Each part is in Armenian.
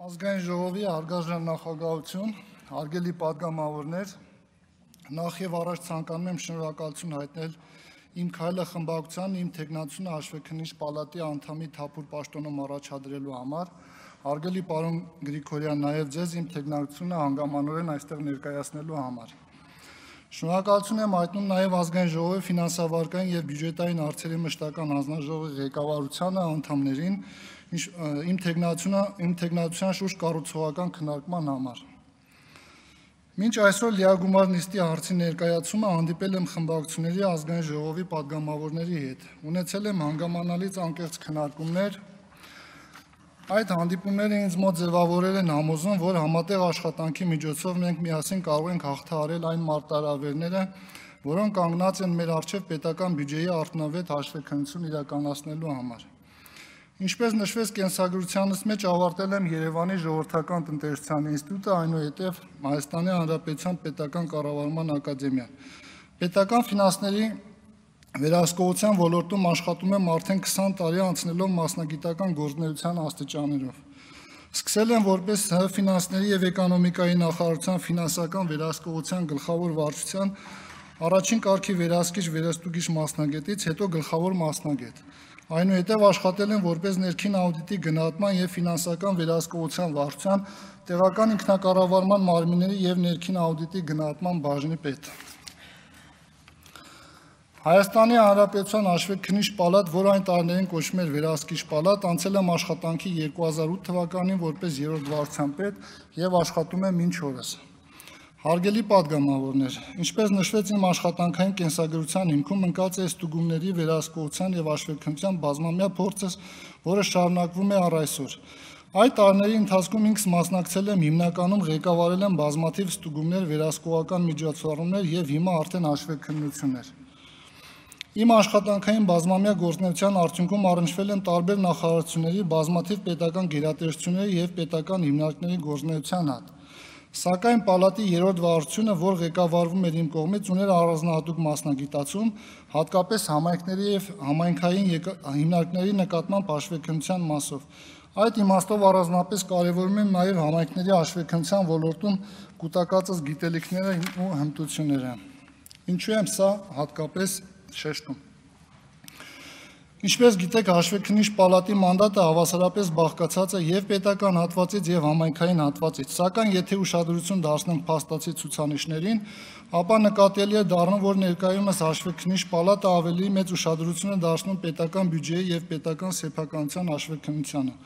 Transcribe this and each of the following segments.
Ազգային ժողովի հարգարժան նախագահություն, հարգելի պատգամավորներ, նախ եւ առաջ ցանկանում եմ շնորհակալություն հայտնել իմ քայլը խմբակցության, իմ թեկնածությունը հաշվեկնիչ պալատի անդամի թափուր պաշտոնում առաջադրելու համար, հարգելի պարոն Գրիգորյան, նաեւ ձեզ իմ թեկնածությունը հանգամանորեն այստեղ ներկայացնելու համար։ Շնորհակալություն եմ հայտնում նաեւ ազգային ժողովի ֆինանսավարկային եւ բյուջետային հարցերի մշտական հանձնաժողովի ղեկավարությանը, անդամներին, իմ թեկնածության շուրջ կառուցողական քննարկման համար։ Մինչ այսօր լիագումար նիստի հարցի ներկայացումը հանդիպել եմ խմբակցությունների ազգային ժողովի պատգամավորների հետ, ունեցել եմ հանգամանալից անկեղծ քննարկումներ։ Այդ հանդիպումները ինձ մոտ ձևավորել են համոզում, որ համատեղ աշխատանքի միջոցով մենք միասին կարող ենք հաղթահարել այն մարտահրավերները, որոնք կանգնած են մեր առջև պետական բյուջեի արդյունավետ հաշվեկնություն իրականացնելու համար։ Ինչպես նշվեց կենսագրությանս մեջ, ավարտել եմ Երևանի ժողովրդական տնտեսության ինստիտուտը, այնուհետև Հայաստանի Հանրապետության պետական կառավարման ակադեմիան։ Պետական ֆինանսների վերահսկողության ոլորտում աշխատում եմ արդեն 20 տարի, անցնելով մասնագիտական գործունեության աստիճաններով։ Սկսել եմ որպես ֆինանսների եւ էկոնոմիկայի նախարարության ֆինանսական վերահսկողության գլխավոր վարչության առաջին կարգի վերահսկիչ վերստուգիչ մասնագետից, հետո գլխավոր մասնագետ։ Այնուհետև աշխատել եմ որպես ներքին աուդիտի գնահատման եւ ֆինանսական վերահսկողության վարչության տեղական ինքնակառավարման մարմինների եւ ներքին աուդիտի գնահատման բաժնի պետ։ Հայաստանի Հանրապետության հաշվեկնիչ պալատ, որ այն տարիներին կոչվում էր վերահսկիչ պալատ, անցել եմ աշխատանքի 2008 թվականին որպես երրորդ վարչության պետ եւ աշխատում եմ մինչ օրս։ Հարգելի պատգամավորներ, ինչպես նշվեց իմ աշխատանքային կենսագրության հիմքում ընկած է ստուգումների վերահսկողության եւ հաշվեկնության բազմամյա փորձս, որը շարունակվում է առ այսօր։ Այդ տարիների ընթացքում ինքս մասնակցել եմ հիմնականում ղեկավարել եմ բազմաթիվ ստուգումներ, վերահսկողական միջոցառումներ եւ հիմա արդեն հաշվեկնություններ։ Իմ աշխատանքային բազմամյա գործունեության արդյունքում առնչվել եմ տարբեր նախարարությունների, բազմաթիվ պետական գերատեսչությունների եւ պետական հիմնարկների գործունեության հետ։ Սակայն պալատի երրորդ վարչությունը, որ ղեկավարվում էր իմ կողմից, ուներ առանձնահատուկ մասնագիտացում, հատկապես համայնքների եւ համայնքային հիմնարկների նկատմամբ հաշվեկնության մասով։ Այդ իմաստով առանձնապես կարևորում եմ նաեւ համայնքների հաշվեկնության ոլորտում կուտակածս գիտելիքները ու հմտությունները։ Ինչու եմ սա հատկապես շեշտում։ Ինչպես գիտեք, հաշվեկնիչ պալատի մանդատը հավասարապես բաղկացած է եւ պետական հատվածից եւ համայնքային հատվածից, սակայն եթե ուշադրություն դարձնենք փաստացի ցուցանիշներին, ապա նկատելի է դառնում, որ ներկայումս հաշվեկնիչ պալատը ավելի մեծ ուշադրություն է դարձնում պետական բյուջեի եւ պետական սեփականության հաշվեկնությանը։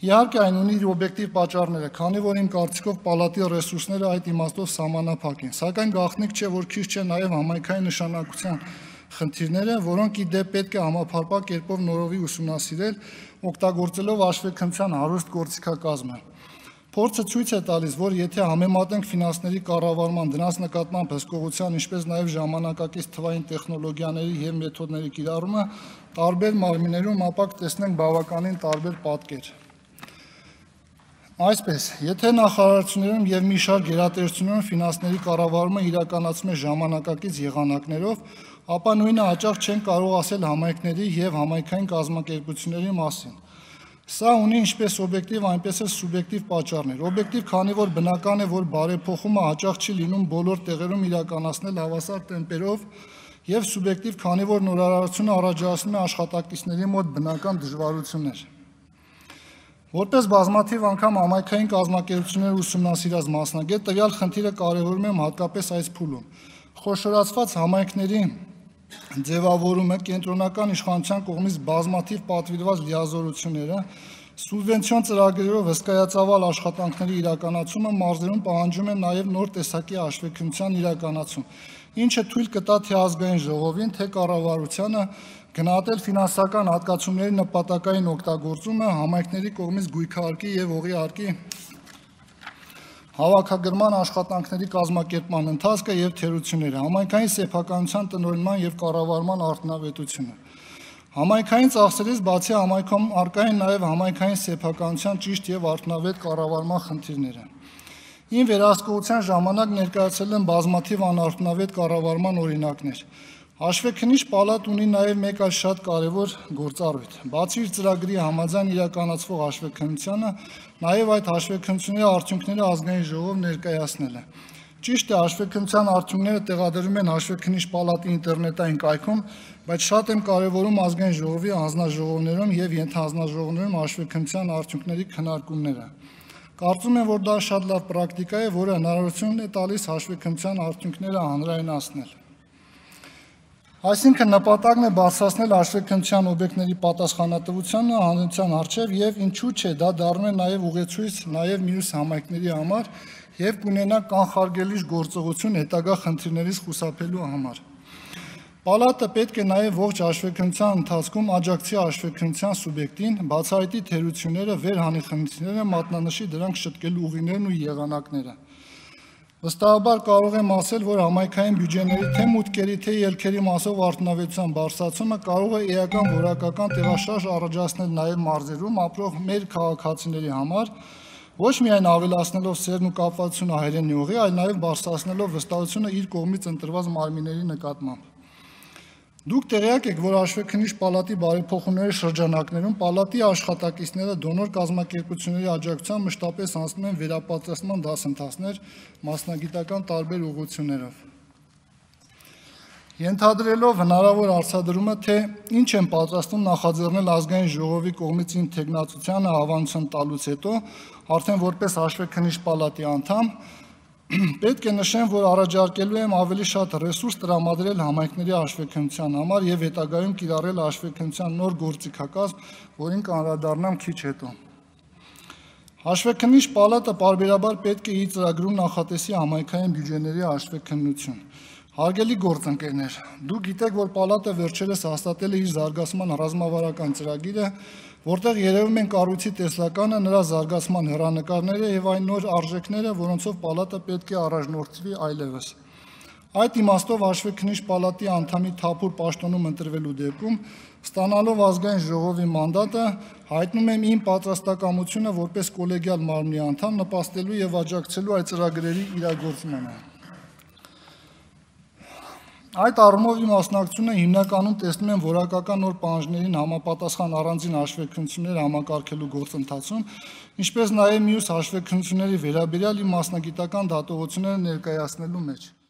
Իհարկե այն ունի իր օբյեկտիվ պատճառները, քանի որ իմ կարծիքով պալատի ռեսուրսները այդ իմաստով սահմանափակ են, սակայն գաղտնիք չէ, որ քիչ չէ նաեւ համայնքային նշանակության խնդիրները, որոնք ի դեպ պետք է համապարփակ կերպով նորովի ուսումնասիրել, օգտագործելով հաշվեկնության հարուստ գործիքակազմը։ Փորձը ցույց է տալիս, որ եթե համեմատենք ֆինանսների կառավարման դրանց նկատմամբ հսկողության, ինչպես նաև ժամանակակից թվային տեխնոլոգիաների եւ մեթոդների կիրառումը տարբեր մարմիններում, ապա կտեսնենք բավականին տարբեր պատկեր։ Այսպես, եթե նախարարություններում եւ մի շարք գերատեսչություններում ֆինանսների կառավարումը իրականացում է ժամանակակից եղանակներով, ապա նույնը հաճախ չեն կարող ասել համայնքների եւ համայնքային կազմակերպությունների մասին։ Սա ունի ինչպես օբյեկտիվ, այնպես էլ սուբյեկտիվ պատճառներ։ Օբյեկտիվ, քանի որ բնական է, որ բարեփոխումը հաճախ չի լինում բոլոր տեղերում իրականացնել հավասար տեմպերով, եւ սուբյեկտիվ, քանի որ նորարարությունը առաջացնում է աշխատակիցների մոտ բնական դժվարություններ։ Որպես բազմաթիվ անգամ համայնքային կազմակերպությունները ուսումնասիրած մասնագետ, տվյալ խնդիրը կարևորում եմ հատկապես այս փուլում։ Խոշորացված համայնքների ձևավորումը, կենտրոնական իշխանության կողմից բազմաթիվ պատվիրված լիազորությունները, սուբվենցիոն ծրագրերով հսկայածավալ աշխատանքների իրականացումը մարզերում պահանջում է նաև նոր տեսակի հաշվեկնության իրականացում, ինչը թույլ կտա թե ազգային ժողովին, թե կառավարությանը գնահատել ֆինանսական հատկացումների նպատակային օգտագործումը, համայնքների կողմից գույքարկի եւ օղի հավաքագրման աշխատանքների կազմակերպման ընթացքը եւ թերությունները, համայնքային սեփականության տնօրինման եւ կառավարման արդյունավետությունը։ Համայնքային ծախսերից բացի համայնքում առկա են նաեւ համայնքային սեփականության ճիշտ եւ արդյունավետ կառավարման խնդիրները։ Իմ վերահսկողության ժամանակ ներկայացել եմ բազմաթիվ անարդյունավետ կառավարման օրինակներ։ Հաշվեկնիչ պալատ ունի նաև մեկ այլ շատ կարևոր գործառույթ։ Բացի իր ծրագրի համաձայն իրականացվող հաշվեկնությանը, նաև այդ հաշվեկնությունների արդյունքները ազգային ժողով ներկայացնել է։ Ճիշտ է, հաշվեկնության արդյունքները տեղադրվում են հաշվեկնիչ պալատի ինտերնետային կայքում, բայց շատ եմ կարևորում ազգային ժողովի հանձնաժողովներում եւ ենթահանձնաժողովներում հաշվեկնության արդյունքների քննարկումները։ Կարծում եմ, որ դա շատ լավ պրակտիկա է, որը հնարավորություն է տալիս հաշվեկնության արդյունքները հանրայնացնել։ Այսինքն նպատակն է բարձրացնել հաշվեկնության օբյեկտների պատասխանատվությունը հանրության առջև եւ ինչու՞ չէ, դա դառնում է նաեւ ուղեցույց նաեւ մյուս համայնքների համար եւ կունենա կանխարգելիչ գործողություն հետագա խնդիրներից խուսափելու համար։ Պալատը պետք է նաեւ ողջ հաշվեկնության ընթացքում աջակցի հաշվեկնության սուբյեկտին, բացահայտի թերությունները, վերհանի խնդիրները, մատնանշի դրանք շտկելու ուղիներն ու եղանակները։ Վստահաբար կարող եմ ասել, որ համայնքային բյուջեների թե մուտքերի, թե ելքերի մասով արդյունավետության բարձրացումը կարող է էական որակական տեղաշարժ առաջացնել նաև մարզերում ապրող մեր քաղաքացիների համար, ոչ միայն ավելացնելով սերն ու կապվածությունը հայրենի ուղի, այլ նաև բարձրացնելով վստահությունը իր կողմից ընտրված մարմինների նկատմամբ։ Դուք տեղյակ եք, որ հաշվեկնիչ պալատի բարեփոխումների շրջանակներում պալատի աշխատակիցները դոնոր կազմակերպությունների աջակցությամբ մշտապես անցնում են վերապատրաստման դասընթացներ մասնագիտական տարբեր ուղղություններով։ Ենթադրելով հնարավոր արձադրումը, թե ինչ են պատրաստում նախաձեռնել ազգային ժողովի կողմից իմ թեկնածությանը հավանություն տալուց հետո, արդեն որպես հաշվեկնիչ պալատի անդամ, պետք է նշեմ, որ առաջարկելու եմ ավելի շատ ռեսուրս տրամադրել համայնքների հաշվեկնության համար եւ հետագայում կիրառել հաշվեկնության նոր գործիքակազմ, որին կանդրադառնամ քիչ հետո։ Հաշվեկնիչ պալատը պարբերաբար պետք է իր ծրագրում նախատեսի համայնքային բյուջեների հաշվեկնություն։ Հարգելի գործընկերներ, դուք գիտեք, որ պալատը վերջերս հաստատել է իր զարգացման ռազմավարական ծրագիրը, որտեղ երևում են կառույցի տեսլականը, նրա զարգացման հեռանկարները եւ այն նոր արժեքները, որոնցով պալատը պետք է առաջնորդվի այլևս։ Այդ իմաստով հաշվեկնիչ պալատի անդամի թափուր պաշտոնում ընտրվելու դեպքում, ստանալով ազգային ժողովի մանդատը, հայտնում եմ իմ պատրաստակամությունը որպես կոլեգիալ մարմնի անդամ նպաստելու եւ աջակցելու այդ ծրագրերի իրագործմանը։ Այդ առումով իմ մասնակցությունը հիմնականում տեսնում եմ որակական նոր պահանջներին համապատասխան առանձին հաշվեկնություններ համակարգելու գործընթացում, ինչպես նաև մյուս հաշվեկնությունների վերաբերյալ իմ մասնագիտական դատողությունները ներկայացնելու մեջ։